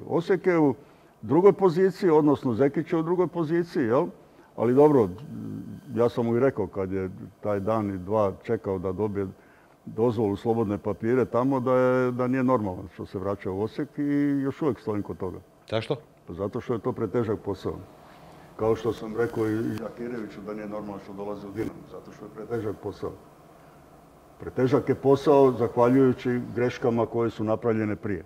Osijek je u drugoj poziciji, odnosno Zekić je u drugoj poziciji, jel? Ali dobro, ja sam mu i rekao kad je taj dan i dva čekao da dobije dozvolu slobodne papire tamo da nije normalno što se vraća u Osijek i još uvijek stojim kod toga. Zašto? Pa zato što je to pretežak posao. Kao što sam rekao i Jakireviću da nije normalno što dolazi u Dinamo, zato što je pretežak posao. Pretežak je posao zahvaljujući greškama koje su napravljene prije.